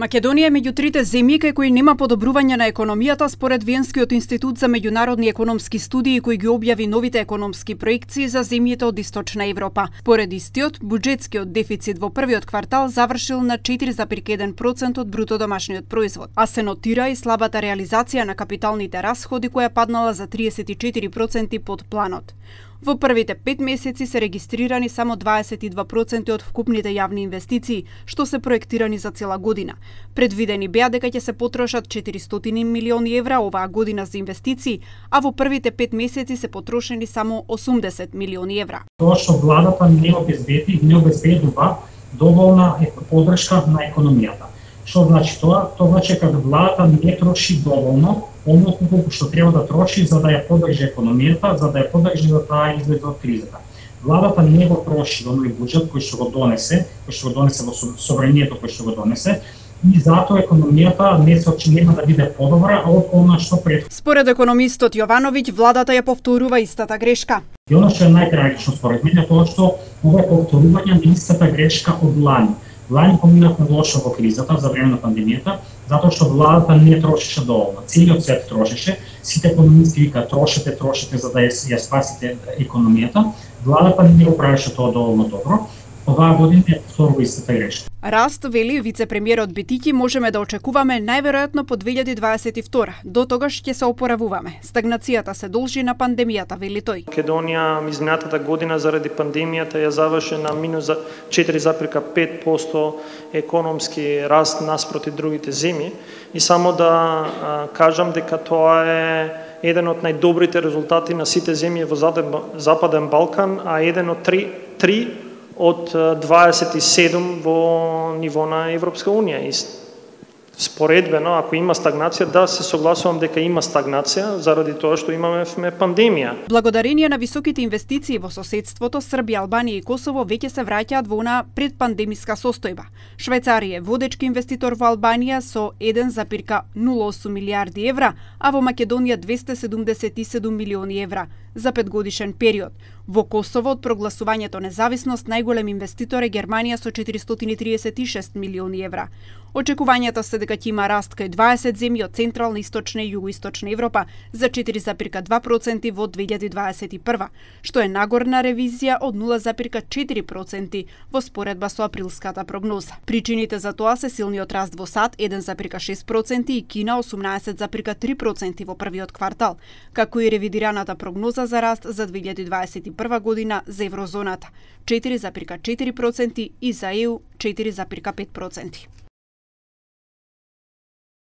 Македонија е меѓу трите земји кај кои нема подобрување на економијата според Виенскиот институт за меѓународни економски студии кој ги објави новите економски проекции за земјите од Источна Европа. Поред истиот, буџетскиот дефицит во првиот квартал завршил на 4,1% од бруто домашниот производ, а се нотира и слабата реализација на капиталните расходи која паднала за 34% под планот. Во првите 5 месеци се регистрирани само 22% од вкупните јавни инвестиции, што се проектирани за цела година. Предвидени беа дека ќе се потрошат 400 милиони евра оваа година за инвестиции, а во првите 5 месеци се потрошени само 80 милиони евра. Тоа што владата не обезбедува доволна поддршка на економијата. Што значи тоа? Тоа значи кога владата не троши доволно, оноliko колку што треба да троши за да ја поддржи економијата, за да ја поддржи да таа излезе од кризата. Владата не го троши во нови буџет кој што го донесе во собранието кој што го донесе, и затоа економијата нема да биде подобра од она што пред. Според економистот Јовановиќ, владата ја повторува истата грешка. И оно што е најтрагично според мене е тоа што ова е повторување на истата грешка од лани. Лани поминавме лошо во кризата за време на пандемијата, затоа што владата не трошеше доволно. Целиот свет трошеше, сите економисти вика трошете за да ја спасите економијата. Владата не го правеше тоа доволно добро. Оваа година е повторува истата грешка. Раст, вели вице-премиерот Бетики, можеме да очекуваме најверојатно по 2022. До тогаш ќе се опоравуваме. Стагнацијата се должи на пандемијата, вели тој. Македонија изминатата година заради пандемијата ја заврши на минус 4,5% економски раст наспроти другите земји. И само да кажам дека тоа е еден од најдобрите резултати на сите земји во Западен Балкан, а еден од три од 27 во ниво на Европска Унија. И споредбено, ако има стагнација, да, се согласувам дека има стагнација заради тоа што имаме пандемија. Благодарение на високите инвестиции во соседството, Србија, Албанија и Косово веќе се враќаат во она предпандемиска состојба. Швајцарија е водечки инвеститор во Албанија со 1,08 милијарди евра, а во Македонија 277 милиони евра за 5-годишен период. Во Косово од прогласувањето независност најголем инвеститор е Германија со 436 милиони евра. Очекувањата се дека ќе има раст кај 20 земји од Централна, Источна и Југоисточна Европа за 4,2% во 2021, што е нагорна ревизија од 0,4% во споредба со априлската прогноза. Причините за тоа се силниот раст во САД 1,6% и Кина 18,3% во првиот квартал, како и ревидираната прогноза за раст за 2021 година за еврозоната 4,4% и за ЕУ 4,5%.